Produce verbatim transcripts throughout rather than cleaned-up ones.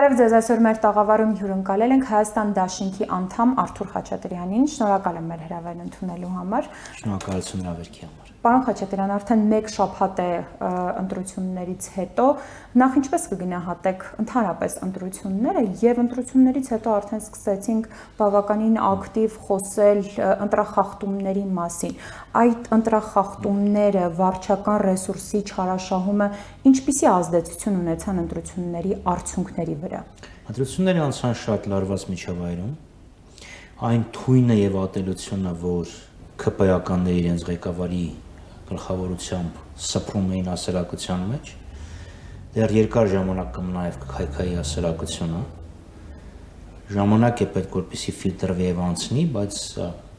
Բարև ձեզ, այսօր մեր տաղավարում հյուրընկալել ենք Հայաստան դաշինքի անդամ Արթուր Խաչատրյանին, շնորհակալ եմ մեր հրավերն ընդունելու համար։ Շնորհակալություն հրավերքի համար։ Պարոն Խաչատրյան, արդեն մեկ շաբաթ է ընտրություններից հետո, նախ ինչպես կգնահատեք ընդհանրապես ընտրությունները եւ ընտրություններից հետո արդեն սկսեցինք բավականին ակտիվ խոսել ընտրախախտումների մասին։ Այդ ընտրախախտումները, վարչական ռեսուրսի չարաշահումը ինչպիսի ազդեցություն ունեցան ընտրությունների արդյունքների վրա։ Ընտրությունները անցան շատ լարված միջավայրում։ Այն թույնը եւ ատելությունը, որ ՔՊ-ականները իրենց ղեկավարի գլխավորությամբ սփռում էին հասարակության մեջ, դեռ երկար ժամանակ կմնա եւ կքայքայի հասարակությունը։ Ժամանակ է պետք, որպեսզի ֆիլտրվի եւ անցնի, բայց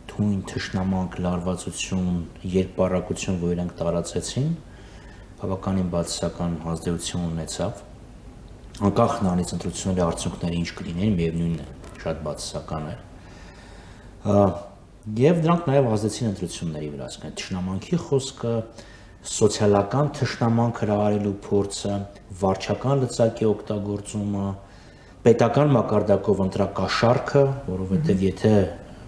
թույն թշնամանք, լարվածություն, երկպառակություն, որ իրենք տարածեցին, բավականին բացասական ազդեցություն ունեցավ։ Անկախ նրանից ընտրությունների արդյունքները ինչ կլինեն, միևնույնն է, շատ բացասական էր։ Եվ դրանք նաև ազդեցին ընտրությունների վրա, ասենք թշնամանքի խոսքը, սոցիալական թշնամանք հրահարելու փորձը, վարչական լծակի օգտագործումը, պետական մակարդակով ընտրակաշառքը, որովհետև եթե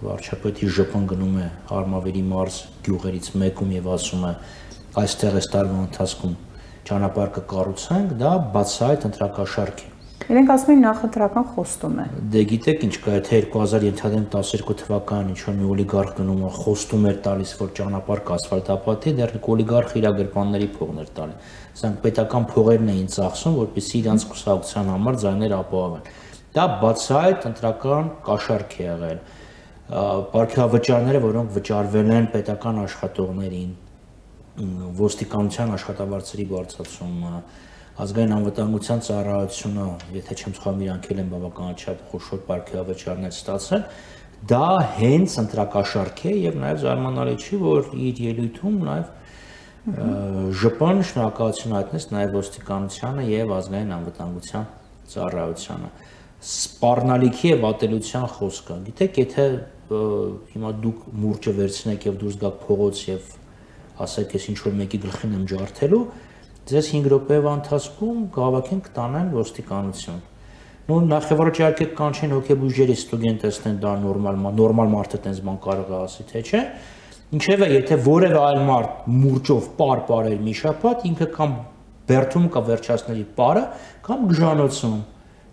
վարչապետի ժպն գնում է Արմավիրի մարզ գյուղերից մեկում եւ ասում է այստեղ այս տարվա ընթացքում ճանապարհ կկառուցենք, դա բացահայտ ընտրակաշառք է։ Իրենք ասում են նախընտրական խոստում է։ Դե գիտեք ինչ կա, եթե երկու հազար տասներկու թվականին ինչ-որ մի օլիգարխ գնում է, խոստում էր տալիս, որ ճանապարհ կասֆալտապատի, դեռ օլիգարխը իր գրպանների փողն էր տալի։ Սրանք պետական փողերն էին ծախսում, որպեսզի իրանց կուսակցության համար ձայներ ապահովեն։ Դա բացահայտ ընտրական կաշառք է եղել։ Պարգևավճարները, որոնք վճարվել են պետական աշխատողներին, ոստիկանության աշխատավարձերի բարձրացումը, ազգային անվտանգության ծառայությունը, եթե չեմ սխալվում, իրանք էլ են բավականաչափ խոշոր պարգևավճարներ ստացել, դա հենց ընտրակաշառք է եւ նաեւ զարմանալի չի, որ իր ելույթում նաեւ ԺՊ-ն շնորհակալություն հայտնեց նաեւ ոստիկանությանը եւ ազգային անվտանգության ծառայությանը։ Սպառնալիքի եւ ատելության խոսքը։ Գիտեք, եթե հիմա դուք մուրճը վերցնեք եւ դուրս գաք փողոց եւ ասեք, ես ինչ որ մեկի գլխին եմ ջարդելու, ձեզ հինգ րոպեվա ընթացքում գավակեն կտանեն ոստիկանություն։ Նու նախևառաջ իհարկե կանչեն հոգեբույժերի ստուդենտ տեսնեն, դա նորմալ նորմալ մարդը տենց բան կարող է ասի, թե չէ։ Ինչևէ, եթե որևէ այլ մարդ մուրճով պար պարեր մի շաբաթ, ինքը կամ բերդում կա վերջացների պարը, կամ գժանոցում։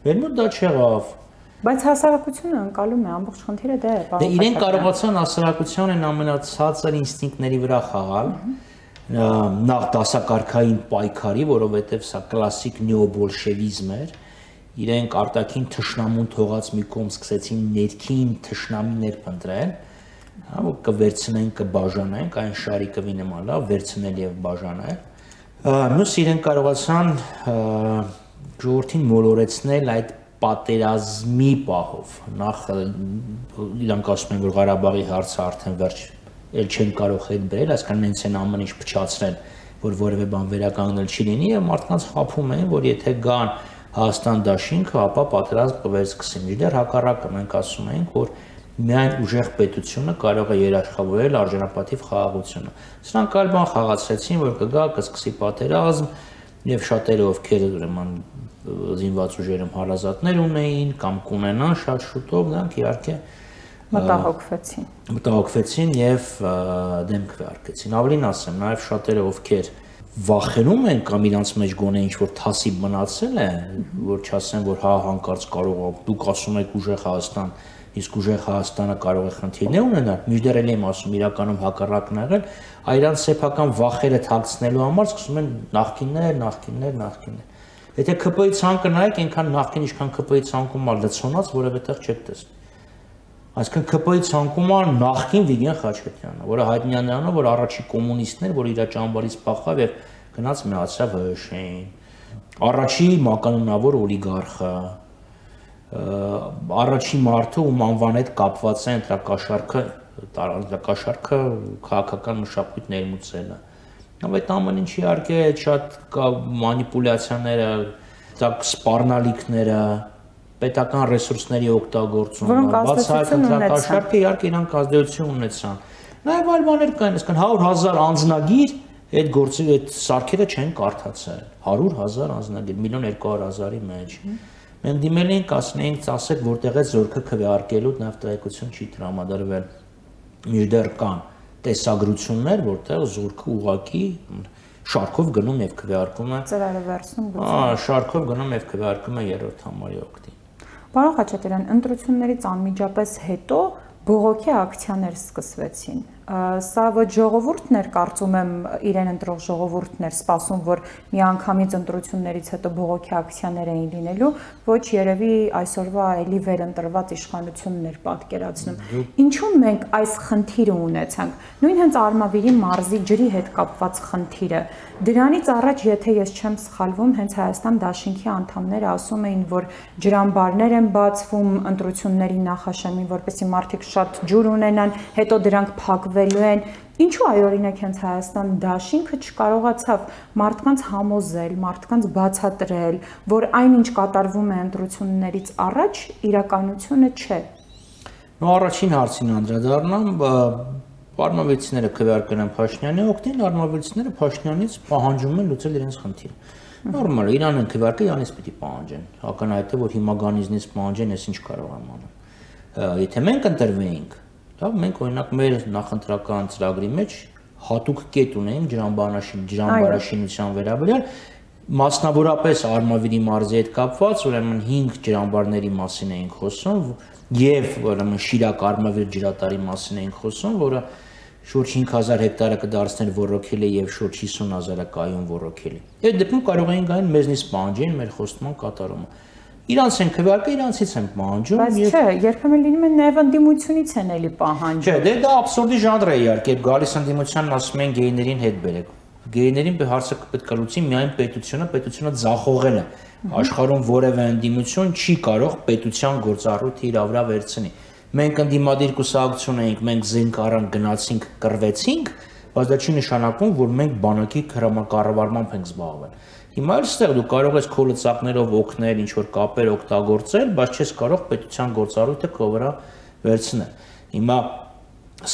Մեր մոտ դա չեղավ։ Բայց հասարակությունը անցալում է, ամբողջ խնդիրը դա է։ Դե իրենք կարողացան հասարակության են ամենացածր ինստինկտների վրա խաղալ։ Նախ դասակարգային պայքարի, որովհետև սա կլասիկ նեոբոլշևիզմ էր, իրենք արտաքին թշնամուն թողած մի կողմ սկսեցին ներքին թշնամիներ փնտրել, որ կվերցնեն, կբաժանենք, այն շարիկովի նման լավ վերցնել եւ բաժանել։ Մյուս իրենք կարողացան ժողովրդին մոլորեցնել այդ պատերազմի պահով։ Նախ իրանք ասում են, որ Ղարաբաղի հարցը արդեն վերջ էլ չեն կարող հետ բերել, այսքան նենց են ամեն ինչ փչացրել, որ որևէ բան վերականգնել չի լինի եւ մարդկանց խափում են, որ եթե գան Հայաստան դաշինքը, ապա պատերազմ կվերսկսի։ Մինչդեռ հակառակը մենք ասում ենք, որ միայն ուժեղ պետությունը կարող է երաշխավորել արժանապատիվ խաղաղությունը։ Սրանք այլ բան խաղացրեցին, որ կգա, կսկսի պատերազմ եւ շատերը ովքեր ուրեմն զինված ուժերում հարազատներ ունեին կամ կունենան շատ շուտով, նրանք իհարկե մտահոգվեցին։ Մտահոգվեցին եւ դեմք վարկեցին։ Ավելին ասեմ, նաեւ շատերը ովքեր վախենում են կամ իրանց մեջ գոնե ինչ-որ թասիբ մնացել է, որ չասեն, որ հա հանկարծ կարող է, դուք ասում եք ուժեղ Հայաստան, իսկ ուժեղ Հայաստանը կարող է խնդիրներ ունենալ, մինչդեռ էլ եմ ասում, իրականում հակառակն եղել, այրանց սեփական վախերը թաքցնելու համար սկսում են նախկիններ, նախկիններ, նախկիններ։ Եթե ՔՊ-ի ցանկը նայեք, այնքան նախկին ինչքան ՔՊ-ի ցանկում ալ լցոնած որևէ տեղ չեք տեսնի։ Այսինքն ՔՊ-ի ցանկում ալ նախկին Վիգեն Խաչատրյանը, որը հայտնի է նրանով, որ առաջի կոմունիստներ, որ իր ճամբարից փախավ եւ գնաց միացավ ՀՀՇ-ին։ Առաջի մականունավոր օլիգարխը, առաջի մարդը, ում անվան հետ կապված է ընտրակաշառքը, ընտրակաշառքը քաղաքական մշակույթ ներմուծելը։ Այդ ամեն ինչ իհարկե շատ մանիպուլյացիաները, սպառնալիքները, պետական ռեսուրսների օգտագործումը, բացահայտ ընտրակաշառքը իհարկե իրանք ազդեցություն ունեցան։ Նաև այլ բաներ կային, այսինքն հարյուր հազար անձնագիր այդ գործի այդ սարքերը չեն կարդացել, հարյուր հազար անձնագիր, միլիոն երկու հարյուր հազարի մեջ։ Մենք դիմել էինք, ասնեինք, ասեք, որտեղ է զորքը քվեարկելու նաև տեղեկություն չի տրամադրվել։ Մինչդեռ կան տեսագրություններ, որտեղ զորքը ուղղակի շարքով գնում եւ քվեարկում է։ Ծրարը վերցնում գուցե։ Ահա, շարքով գնում եւ քվեարկում է երրորդ համարի օգտին։ Պարոն Խաչատրյան, ընտրություններից անմիջապես հետո բողոքի ակցիաներ սկսվեցին։ Սա ոչ ժողովուրդն էր, կարծում եմ, իրեն ընտրող ժողովուրդն էր սպասում, որ միանգամից ընտրություններից հետո բողոքի ակցիաներ էին լինելու, ոչ երևի այսօրվա էլի վերընտրված իշխանությունն էր պատկերացնում։ Ինչու մենք այս խնդիրը ունեցանք։ Նույն հենց Արմավիրի մարզի ջրի հետ կապված խնդիրը։ Դրանից առաջ, եթե ես չեմ սխալվում, հենց Հայաստան Դաշինքի անդամները ասում էին, որ ջրամբարներ են բացվում ընտրությունների նախաշեմին, որպեսզի մարդիկ շատ ջուր ունենան, հետո դրանք փակվելու են։ Ինչու այ օրինակ հենց Հայաստան Դաշինքը չկարողացավ մարդկանց համոզել, մարդկանց բացատրել, որ այնինչ կատարվում է ընտրություններից առաջ, իրականությունը չէ։ Նո առաջին հարցին անդրադառնամ, արմավիրցիները քվեարկել են Փաշինյանի օգտին, արմավիրցիները Փաշինյանից պահանջում են լուծել իրենց խնդիրը։ Նորմալ է, իրան են քվեարկել, իրանից պիտի պահանջեն։ Ակնհայտ է, որ հիմա գանիզնից պահանջեն, ես ինչ կարող եմ անել։ Եթե մենք ընտրվեինք, լավ, մենք օրինակ մեր նախընտրական ծրագրի մեջ հատուկ կետ ունեինք ջրամբարաշինության վերաբերյալ, մասնավորապես Արմավիրի մարզի հետ կապված, ուրեմն հինգ ջրամբարների մասին էինք խոսում եւ ուրեմն Շիրակ Արմավիր ջրատարի մասին էինք խոսում, որը շուրջ հինգ հազար հեկտարը կդարձներ ոռոգելի եւ շուրջ հիսուն հազարը կայուն ոռոգելի։ Այդ դեպքում կարող էին գային մեզնից պահանջեն մեր խոստման կատարումը։ Իրանց են քվեարկել, իրանցից են պահանջում։ Բայց չէ, երբեմն լինում է նաեւ ընդդիմությունից են էլի պահանջում։ Չէ, դե դա աբսուրդի ժանր է իհարկե, գալիս ընդդիմությանն ասում են գեյներին հետ բերեք։ Գեյներին հարցը պետք է լուծի միայն պետությունը, պետությունը ձախողել է։ Աշխարհում որևէ ընդդիմություն չի կարող պետության գործառույթը իր վրա վերցնի։ Մենք ընդդիմադիր կուսակցություն էինք, մենք զենք առանք գնացինք, կռվեցինք, բայց դա չի նշանակում, որ մենք բանակի կառավարմամբ ենք զբաղվել։ Հիմա էլ ստեղ դու կարող ես քո լծակներով օգնել, ինչ որ կապեր օգտագործել, բայց չես կարող պետության գործառույթը քո վրա վերցնել։ Հիմա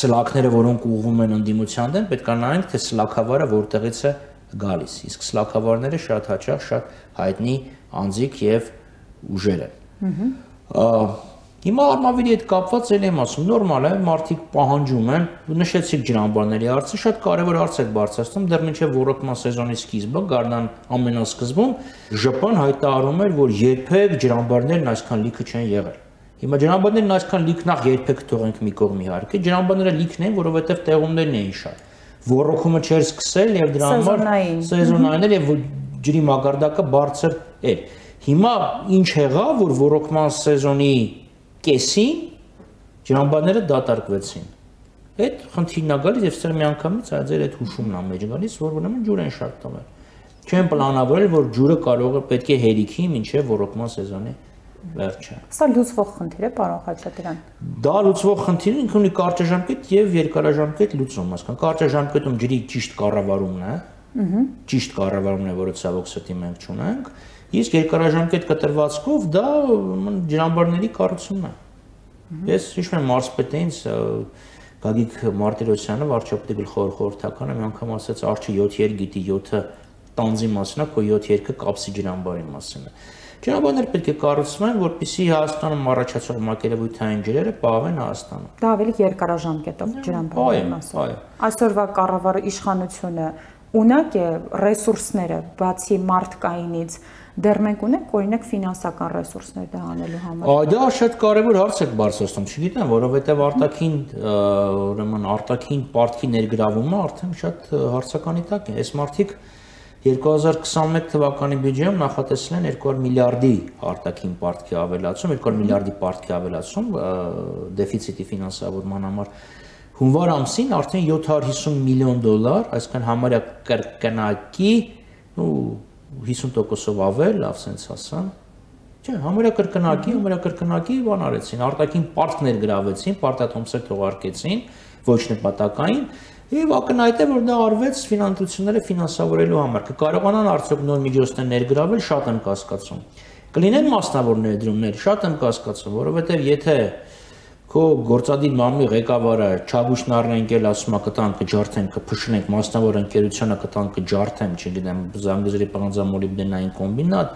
սլաքները, որոնք ուղղվում են ընդդիմության դեմ, պետք է նայենք, թե սլաքավարը որտեղից է գալիս։ Իսկ սլաքավարները շատ հաճախ շատ հայտնի անձիկ եւ ուժեր են։ Հիմա Արմավիրի հետ կապված էլ եմ ասում, նորմալ է, մարդիկ պահանջում են, նշեցիք ջրամբարների հարցը, շատ կարևոր հարց եք բարձրացնում, դեռ մինչև ոռոգման սեզոնի սկիզբը, գարնան ամենասկզբում ԺՊ-ն հայտարարում էր, որ երբեք ջրամբարներն այսքան լիքը չեն եղել։ Հիմա ջրամբարներն այսքան լիք նախ երբեք թողենք մի կողմ իհարկե, ջրամբարները լիքն են, որովհետև տեղումներն էին շատ։ Ոռոգումը չէր սկսել եւ դրա համար սեզոնային էր եւ ջրի մակարդակը բարձր էր։ Հիմա ինչ եղավ, որ ոռոգման սեզոնի կեսին ջրամբարները դատարկվեցին։ Այդ խնդիրն է գալիս եւ ստեղ միանգամից այ ձեր այդ հուշումն է մեջ գալիս, որ ուրեմն ջուր են շատ տվել։ Չեն պլանավորել, որ ջուրը կարող է պետք է հերիքի մինչեւ ոռոգման սեզոնի վերջը։ Սա լուծվող խնդիր է, պարոն Խաչատրյան։ Դա լուծվող խնդիր ինքը ունի կարճաժամկետ եւ երկարաժամկետ լուծում, հասկան։ Կարճաժամկետում ջրի ճիշտ կառավարումն է, ճիշտ կառավարումն է, որը ցավոք սրտի մենք չունենք, իսկ երկարաժամկետ կտրվածքով դա ջրամբարների կառուցումն է։ Ես հիշում եմ մարզպետինց Գագիկ Մարտիրոսյանը, վարչապետի գլխավոր խորհրդականը, մի անգամ ասաց արջը յոթ երկ գիտի յոթը տանձի մասին է, քո յոթ երկը կապսի ջրամբարի մասին է։ Ջրամբարներ պետք է կառուցվեն, որպեսզի Հայաստանում առաջացող մակերևույթային ջրերը պահվեն Հայաստանում։ Դա ավելի երկարաժամկետով ջրամբարների մասին։ Այո, այսօրվա կառավարի իշխանությունը ունակ է ռեսուրսները, բացի մարդկայինից, դեռ մենք ունենք օրինակ ֆինանսական ռեսուրսներ դա անելու համար։ Այ դա շատ կարևոր հարց եք բարձրացնում, չգիտեմ, որովհետև արտաքին, ուրեմն արտաքին պարտքի ներգրավումը արդեն շատ հարցականի տակ է։ Այս մարդիկ երկու հազար քսանմեկ թվականի բյուջեում նախատեսել են երկու հարյուր միլիարդի արտաքին պարտքի ավելացում, երկու հարյուր միլիարդի պարտքի ավելացում դեֆիցիտի ֆինանսավորման համար։ Հունվար ամսին արդեն յոթ հարյուր հիսուն միլիոն դոլար, այսինքն համարյա կրկնակի, ու հիսուն տոկոսով ավել, լավ սենց ասեմ, չէ, համարյա կրկնակի, համարյա կրկնակի բան արեցին, արտաքին պարտք ներգրավեցին, պարտատոմսեր թողարկեցին, ոչ նպատակային, եւ ակնհայտ է, որ դա արվեց ֆինանսավորությունները ֆինանսավորելու համար, կկարողանան արդյոք նոր միջոցներ ներգրավել, շատ եմ կասկածում։ Կլինեն մասնավոր ներդրումներ, շատ եմ կասկածում, որովհետեւ եթե քո գործադիր մարմնի ղեկավարը Չագուշն առնենք ասում է կտանք կջարդենք, կփշնենք մասնավոր ընկերությունը կտանք կջարդենք, չգիտեմ, Զանգեզուրի պղնձամոլիբդենային կոմբինատ,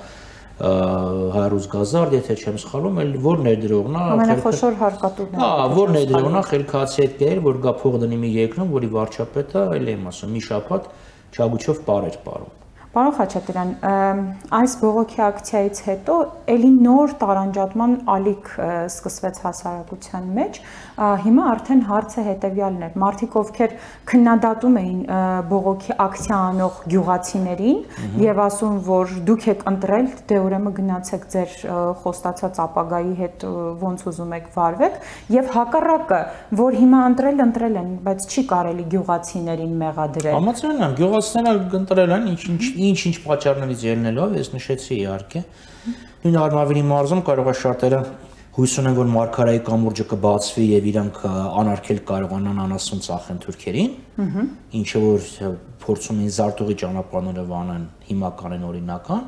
հարյուր գազարդ, եթե չեմ սխալվում, էլ որ ներդրողն է, ամենախոշոր հարկատուներն են։ Հա, որ ներդրողն է խելքացի հետ գեր, որ գա փող դնի մի երկրում, որի վարչապետը, այլ եմ ասում, մի շաբաթ չագուչով պարեր պարում։ Պարոն Խաչատրյան, այս բողոքի ակցիայից հետո էլի նոր տարանջատման ալիք սկսվեց հասարակության մեջ, հիմա արդեն հարցը հետևյալն է, մարդիկ ովքեր քննադատում էին բողոքի ակցիա անող գյուղացիներին եւ ասում, որ դուք եք ընտրել, դե ուրեմն գնացեք ձեր խոստացած ապագայի հետ ոնց ուզում եք վարվեք, եւ հակառակը, որ հիմա ընտրել ընտրել են, բայց չի կարելի գյուղացիներին մեղադրել։ Համաձայն եմ, գյուղացիները ընտրել են, ինչ ինչ-ինչ պատճառներից ելնելով, ես նշեցի իհարկե։ Նույն Արմավիրի մարզում կարող է շատերը հույս ունեն, որ Մարգարայի կամուրջը կբացվի եւ իրանք անարգել կարողանան անասուն ծախեն թուրքերին, ինչը որ փորձում են զարտուղի ճանապարհները վանեն, հիմական են օրինական,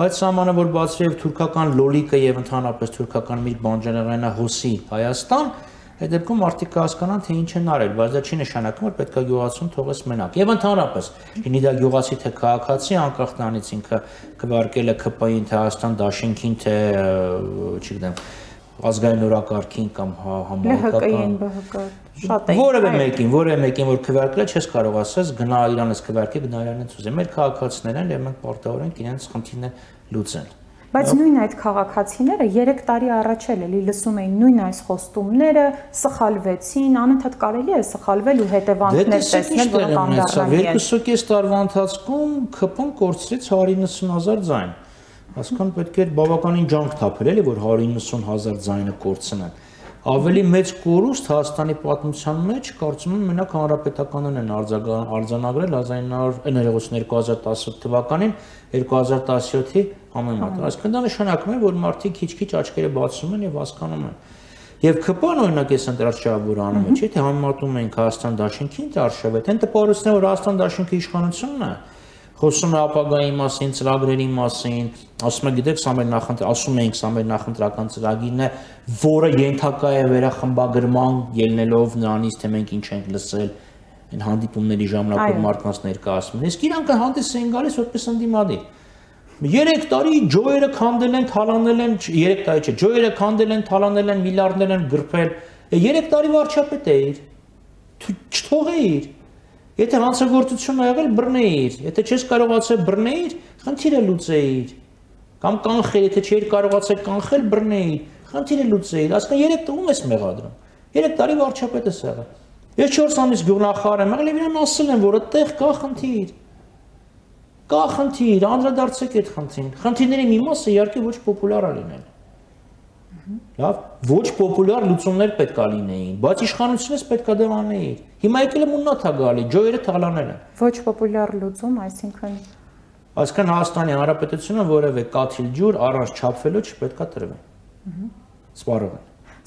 բայց սահմանը որ բացվի եւ թուրքական լոլիկը եւ ընդհանրապես թուրքական մի բանջարեղենը հոսի Հայաստան, այդ դեպքում մարդիկ կհասկանան, թե ինչ են արել, բայց դա չի նշանակում, որ պետք է գյուղացուն թողես մենակ։ Եվ ընդհանրապես, լինի դա գյուղացի թե քաղաքացի, անկախ նրանից ինքը քվարկել է K P I-ին, թե Հայաստան Դաշինքին, թե, չգիտեմ, ազգային օրակարգին կամ համահայկական L H K-ին, շատ է։ Որևէ մեկին, որևէ մեկին, որ քվարկել է, չես կարող ասես, գնա իրանից քվարկի, գնա իրանից ուզի։ Մեր քաղաքացիներն են, եւ մենք պարտավոր ենք իրենց խնդիրները լուծել։ Բայց նույն այդ քաղաքացիները երեք տարի առաջ էլ էլի լսում էին նույն այս խոստումները, սխալվեցին, անընդհատ կարելի է սխալվել ու հետևանքներ տեսնել, որ կանդառնալի են։ երկու տարվա ընթացքում K P I-ն կորցրեց հարյուր իննսուն հազար ձայն։ Հասկան պետք է բավականին ջանք թափել էլի, որ հարյուր իննսուն հազար ձայնը կորցնեն։ Ավելի մեծ կորուստ Հայաստանի պատմության մեջ կարծում եմ մենակ հանրապետականներն են արձանագրել երկու հազար տասը թվականին երկու հազար տասնյոթի համեմատ։ Այսինքն դա նշանակում է, որ մարդիկ քիչ-քիչ աչքերը բացում են եւ հասկանում են։ Եվ K P I-ն օրինակ էս ընտրաշավը անում է, չի թե համեմատում ենք Հայաստան Դաշինքին, թե Արշավետ, այն տպավորությունն է, որ Հայաստան Դաշինքի իշխանությունն է խոսում է ապագայի մասին, ծրագրերի մասին, ասում է գիտեք, սա մեր նախընտրական, ասում էինք, սա մեր նախընտրական ծրագիրն է, որը ենթակա է վերախմբագրման ելնելով նրանից, թե մենք ինչ ենք լսել այն հանդիպումների ժամանակ մարդկանց ներկայացնում են։ Իսկ իրանք հանդես են գալիս որպես ընդդիմադիր։ երեք տարի ջոյերը քանդել են, թալանել են, երեք տարի չէ, ջոյերը քանդել են, թալանել են, միլիարդներ են գրփել։ երեք տարի վարչապետ էիր։ Չթողեիր։ Եթե հանցագործություն ա եղել, բռնեիր, եթե չես կարողացել բռնեիր, խնդիրը լուծեիր, կամ կանխել, եթե չէիր կարողացել կանխել, բռնեիր, խնդիրը լուծեիր, ասկան երեք տվում ես մեղադրում, երեք տարի վարչապետ ես եղել, ես չորս ամիս գյուղնախարար եմ եղել և իրան ասել եմ, որ այդտեղ կա խնդիր, կա խնդիր, անդրադարձեք այդ խնդրին, խնդիրների մի մասը իհարկե ոչ պոպուլար ա լինել, լավ, ոչ պոպուլար լուծումներ պետք է լինեին, բայց իշխանությունից պետք է դեղ անեիր։ Հիմա եկել է մուննաթ ա գալի, ջոյերը թալանել են։ Ոչ պոպուլար լուծում, այսինքն Այսինքն Հայաստանի Հանրապետությունը որևէ կաթիլ ջուր առանց չափվելու չպետք է տրվի։ Սպառողն։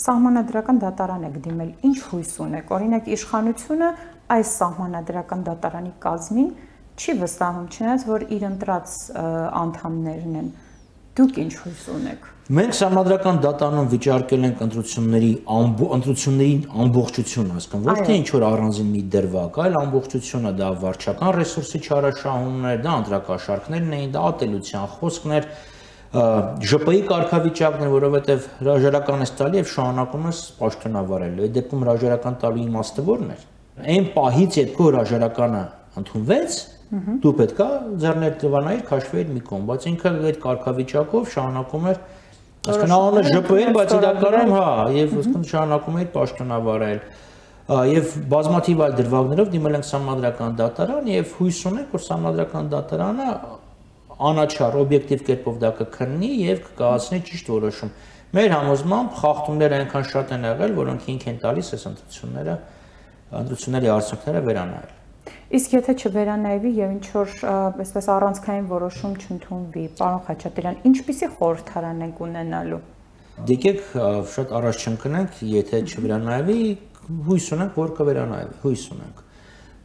Սահմանադրական դատարան եք դիմել, ինչ հույս ունեք։ Օրինակ իշխանությունը այս սահմանադրական դատարանի կազմին չի վստահում, չնայած որ իր ընտրած անդամներն են։ Դուք ինչ հույս ունեք։ Մենք Սահմանադրական դատարանում վիճարկել ենք ընտրությունների ընտրությունների ամբողջությունը, հասկան, ոչ թե ինչ որ առանձին մի դրվագ, այլ ամբողջությունը, դա վարչական ռեսուրսի չարաշահումն էր, դա ընտրակաշարքներն էին, դա ատելության խոսքներ, J P I կարգավիճակն է, որովհետև հրաժարական ես տալի եւ շարունակում ես պաշտոնավարել։ Այդ դեպքում հրաժարական տալու իմաստը ո՞րն էր։ Այն պահից, երբ քո հրաժարականը ընդունվեց, դու պետք է ձեռներ տվանայիր, քաշվեիր մի կողմ, բայց ինքը այդ կարգավիճակով շարունակում էր Այսինքն անունը J P I-ն, բայց իրականում հա, եւ շարունակում էր պաշտոնավարել։ Եվ բազմաթիվ այլ դրվագներով դիմել ենք Սահմանադրական դատարան եւ հույս ունենք, որ Սահմանադրական դատարանը անաչառ օբյեկտիվ կերպով դա կքննի եւ կկայացնի ճիշտ որոշում։ Մեր համոզմամբ խախտումները այնքան շատ են եղել, որոնք ինք են տալիս այս ընտրությունները, ընտրությունների արդյունքները վերանայել։ Իսկ եթե չվերանայվի եւ ինչ որ այսպես առանցքային որոշում չընդունվի, պարոն Խաչատրյան, ինչպիսի խորհրդարան ենք ունենալու։ Դեկեք շատ առաջ չընկնենք, եթե չվերանայվի, հույս ունենք, որ կվերանայվի, հույս ունենք։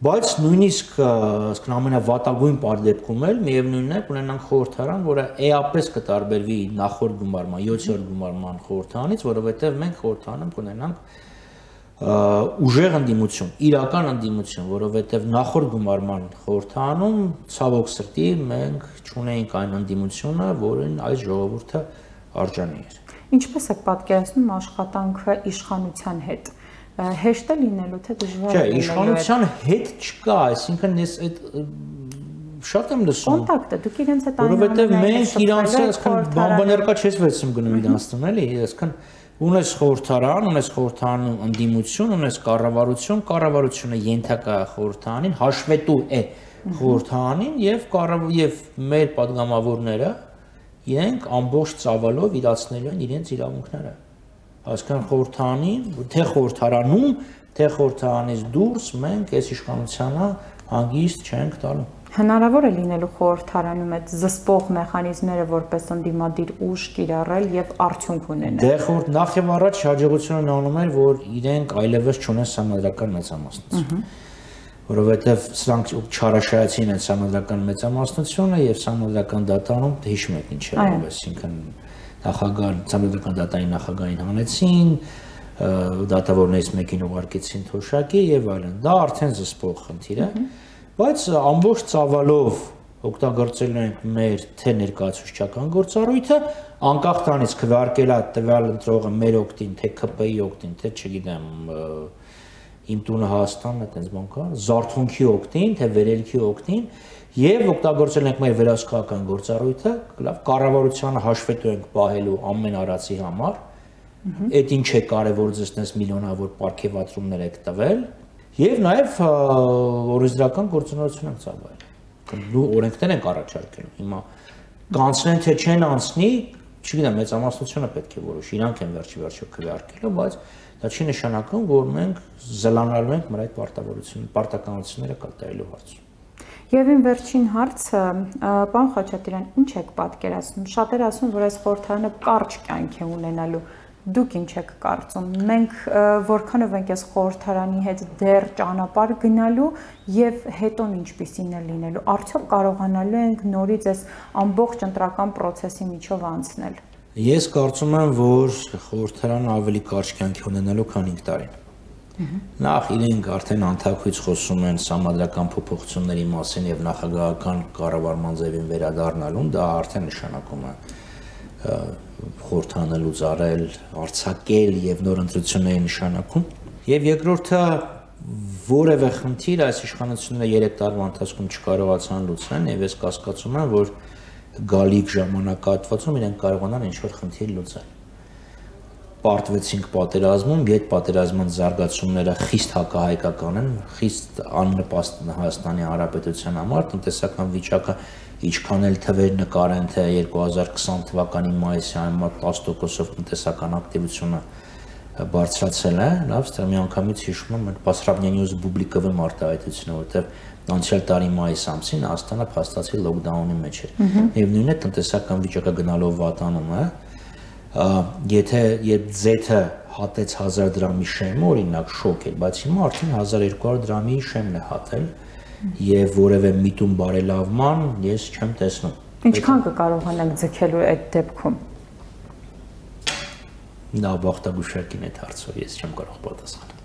Բայց նույնիսկ ասկան ամենավատագույն դեպքում էլ միևնույնն է ունենանք խորհրդարան, որը էապես կտարբերվի նախորդ գումարման, յոթերորդ գումարման խորհրդարանից, որովհետև մենք խորհրդարանում կունենանք ուժեղ ընդդիմություն, իրական ընդդիմություն, որովհետև նախորդ գումարման խորհրդանում ցավոք սրտի մենք չունեինք այն ընդդիմությունը, որին այս ժողովուրդը արժանի էր։ Ինչպես եք պատկերացնում աշխատանքը իշխանության հետ։ Հեշտ է լինելու, թե դժվար է լինելու։ Չէ, իշխանության հետ չկա, այսինքն ես այդ շատ եմ լսում։ Կոնտակտը դուք իրենց հետ այն որովհետև մենք իրանց այսքան բամբաներկա չես վերցում գնում իրանցում, էլի, այսքան ունես խորհրդարան, ունես խորհրդարանում ընդդիմություն, ունես կառավարություն, կառավարությունը ենթակա խորհրդարանին, հաշվետու է խորհրդարանին եւ եւ մեր падգամավորները իրենք ամբողջ ծավալով իրացնելու են իրենց իրավունքները։ Այսքան խորհրդարանի, թե խորհրդարանում, թե խորհրդարանից դուրս մենք այս իշխանությանը հանգիստ չենք տալու։ Հնարավոր է լինելու խորհրդարանում այդ զսպող մեխանիզմները որպես ընդդիմադիր ուժ կիրառել եւ արդյունք ունենալ։ Դե խորհուրդ նախ եւ առաջ հաջողությունն անում էր, որ իրենք այլևս չունեն համադրական մեծամասնություն, որովհետեւ սրանք չարաշահեցին են համադրական մեծամասնությունը եւ համադրական դատարանում հիշում եք ինչ էր, այսինքն նախագահ համադրական դատարանի նախագահին հանեցին, դատավորներից մեկին ուղարկեցին թոշակի եւ այլն։ Դա արդեն զսպող խնդիր է։ Բայց ամբողջ ծավալով օգտագործելու ենք մեր թե ներկայացուցչական գործառույթը, անկախ տանից քվեարկելա տվյալ ընտրողը մեր օգտին, թե K P I օգտին, թե չգիտեմ, իմ տունը Հայաստանն է, այդպես բան կա, զարթոնքի օգտին, թե վերելքի օգտին, եւ օգտագործել ենք մեր վերահսկողական գործառույթը, լավ, կառավարությանը հաշվետու ենք պահելու ամեն արածի համար, այդ ինչ է կարևոր ձեզ տես միլիոնավոր պարգևատրումներ եք տվել։ Եվ նաև օրենսդրական գործունեություն ենք ծավալել։ Դու օրենքներ ենք առաջարկելու։ Հիմա կանցնեն թե չեն անցնի, չգիտեմ, մեծամասնությունը պետք է որոշի, իրանք են վերջի վերջո քվեարկելու, բայց դա չի նշանակում, որ մենք զլանալու ենք մեր այդ պարտավորությունները, պարտականությունները կատարելու հարցում։ Եվ իմ վերջին հարցը, պարոն Խաչատրյան, ինչ եք պատկերացնում։ Շատերը ասում, որ այս խորհրդարանը կարճ կյանք է ունենալու։ Դուք ինչ եք կարծում։ Մենք որքանով ենք այս խորհրդարանի հետ դեռ ճանապարհ գնալու եւ հետոն ինչպիսին է լինելու։ Արդյոք կարողանալու ենք նորից այս ամբողջ ընտրական process-ի միջով անցնել։ Ես կարծում եմ, որ խորհրդարանը ավելի կարճ կյանք ունենալու, քան հինգ տարին։ Նախ իրենք արդեն անթակույց խոսում են համադրական փոփոխությունների մասին եւ նախագահական կառավարման ձևին վերադառնալուն, դա արդեն նշանակում է խորհրդանը լուծարել, արձակել եւ նոր ընտրությունների նշանակում։ Եվ երկրորդը որևէ խնդիր այս իշխանությունները երեք տարվա ընթացքում չկարողացան լուծել եւ ես կասկածում եմ, որ գալիք ժամանակահատվածում իրենք կարողանան ինչ-որ խնդիր լուծել։ Պարտվեցինք պատերազմում, այդ պատերազմման զարգացումները խիստ հակահայկական են, խիստ աննպաստ Հայաստանի Հանրապետության համար, տնտեսական վիճակը ինչքան էլ թվեր նկարեն, թե երկու հազար քսան թվականի մայիսի համեմատ տասը տոկոսով տնտեսական ակտիվությունը բարձրացել է, լավ, ստեղ միանգամից հիշում եմ այդ Բասրաբնյանյուզ բուբլիկովի մարտահայտությունը, որտեղ անցյալ տարի մայիս ամսին Հայաստանը փաստացի լոկդաունի մեջ էր։ Եվ նույնն է տնտեսական վիճակը գնալով վատանում է, եթե երբ ձեթը հատեց հազար դրամի շեմը, օրինակ շոկ էր, բայց հիմա արդեն հազար երկու հարյուր դրամի շեմն է հատել եւ որևէ միտում բարելավման ես չեմ տեսնում։ Ինչքան կկարողանանք ձգելու այդ դեպքում։ Նա բախտագուշակին այդ հարցով ես չեմ կարող պատասխանել։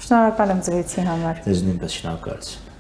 Շնորհակալ եմ զրույցի համար։ Ձեզ նույնպես շնորհակալություն։